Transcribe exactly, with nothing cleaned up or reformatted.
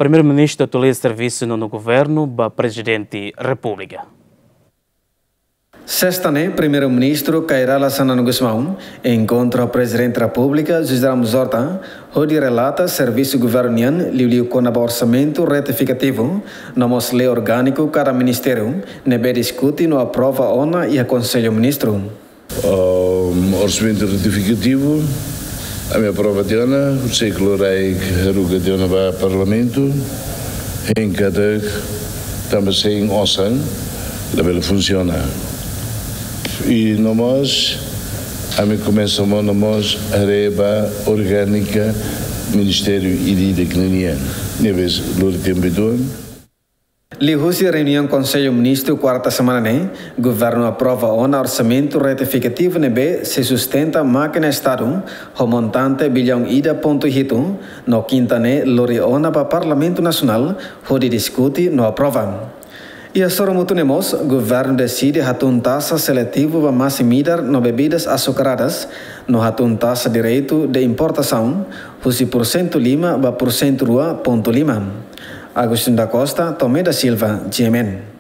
Primeiru-Ministru atualiza servisu nonu governu ba Prezidente Repúblika. Sesta ne'e, Primeiru-Ministru Kay Rala Xanana Gusmão enkontra ho Prezidente Repúblika José Ramos Horta, hodi relata servisu governu nian, liuliu kona-ba orsamentu retifikativu, no mós lei orgániku kada ministériu, ne'ebé diskute no aprova ona iha Konsellu Ministru. Um, orsamentu retifikativu, ami aprova tiha ona, husi klorai haruka tiha ona ba Parlamentu, hein katak tanba sein osan labele funsiona. I no mós, ami komesa monu mós haree ba orgánika ministériu ida-idak ninian. Ne'ebé lori tempu uitoan. Liuhusi reuniaun Konsellu Ministru kuarta semana ne'e, governu aprova ona orsamentu retifikativu ne'ebé sei sustenta mákina Estadu ho montante biliaun ida pontu hitu, no kinta ne'e lori ona ba Parlamentu Nasionál hodi diskute no aprova. Iha sorumutu ne'e mós, governu deside hatún taxa seletivu ba masin-midar no bebidas açucaradas, no hatún taxa direitu de importasaun, husi pursentu lima ba pursentu rua pontu lima. Agostinho da Costa, Tomé da Silva, G M N.